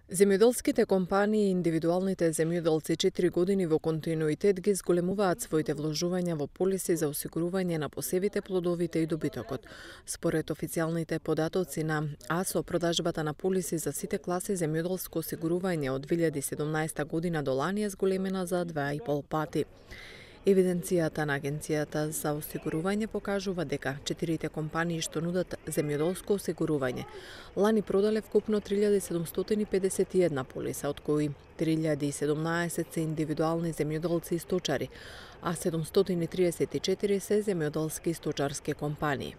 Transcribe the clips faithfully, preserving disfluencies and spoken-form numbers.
Земјоделските компании и индивидуалните земјоделци четири години во континуитет ги зголемуваат своите вложувања во полиси за осигурување на посевите, плодовите и добитокот. Според официјалните податоци на АСО, продажбата на полиси за сите класи земјоделско осигурување од две илјади и седумнаесета година до лани е зголемена за два и пол пати. Евиденцијата на Агенцијата за осигурување покажува дека четирите компании што нудат земјоделско осигурување лани продале вкупно три илјади седумстотини педесет и една полиса, од кои три илјади и седумнаесет се индивидуални земјоделци и сточари, а седумстотини триесет и четири се земјоделски и сточарски компании.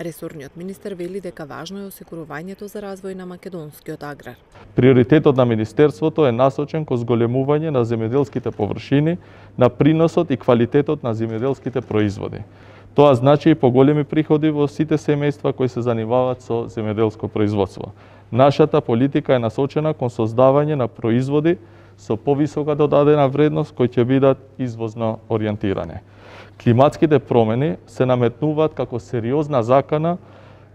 Ресорниот министер вели дека важно е осигурувањето за развој на македонскиот аграр. Приоритетот на Министерството е насочен кон зголемување на земјоделските површини, на приносот и квалитетот на земјоделските производи. Тоа значи и поголеми приходи во сите семејства кои се занимаваат со земјоделско производство. Нашата политика е насочена кон создавање на производи со повисока додадена вредност кои ќе бидат извозно ориентирани. Климатските промени се наметнуваат како сериозна закана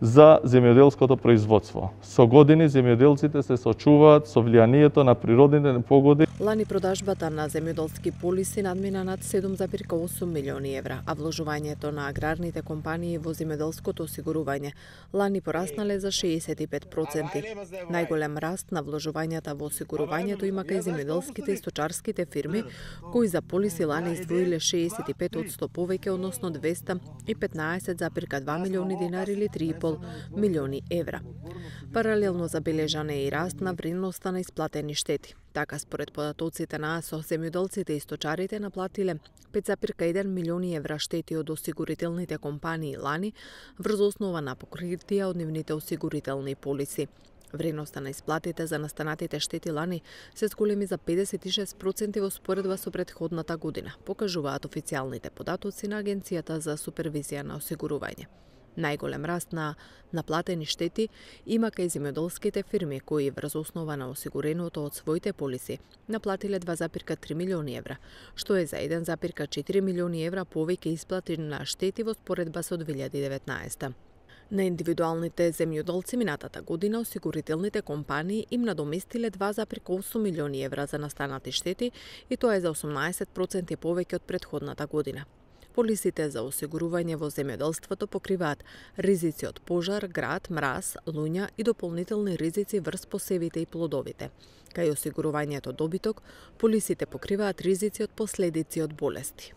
за земјоделското производство. Со години земјоделците се соочуваат со влијанието на природните непогоди. Лани продажбата на земјоделски полиси надмина над седум зарез осум милиони евра, а вложувањето на аграрните компании во земјоделското осигурување лани пораснале за шеесет и пет проценти. Најголем раст на вложувањата во осигурувањето има кај земјоделските и сточарските фирми, кои за полиси лани издвоиле шеесет и пет одсто повеќе, односно двесте и петнаесет зарез два милиони динари или три и пол милиони евра. Паралелно забележан е и раст на вредноста на исплатени штети. Така, според податоците на АСО, земјоделците и сточарите наплатиле пет зарез еден милиони евра штети од осигурителните компании лани врз основа на покритија од нивните осигурителни полиси. Вредноста на исплатите за настанатите штети лани се зголеми за педесет и шест проценти во споредба со претходната година, покажуваат официјалните податоци на Агенцијата за супервизија на осигурување. Најголем раст на наплатени штети има кај земјоделските фирми кои врз основа на осигуреното од своите полиси наплатиле два зарез три милиони евра, што е за еден зарез четири милиони евра повеќе исплати на штети во споредба со две илјади и деветнаесета. На индивидуалните земјоделци минатата година осигурителните компании им надоместиле два зарез осум милиони евра за настанати штети и тоа е за осумнаесет проценти повеќе од претходната година. Полисите за осигурување во земјоделството покриваат ризици од пожар, град, мраз, луња и дополнителни ризици врз посевите и плодовите. Кај осигурувањето добиток, полисите покриваат ризици од последици од болести.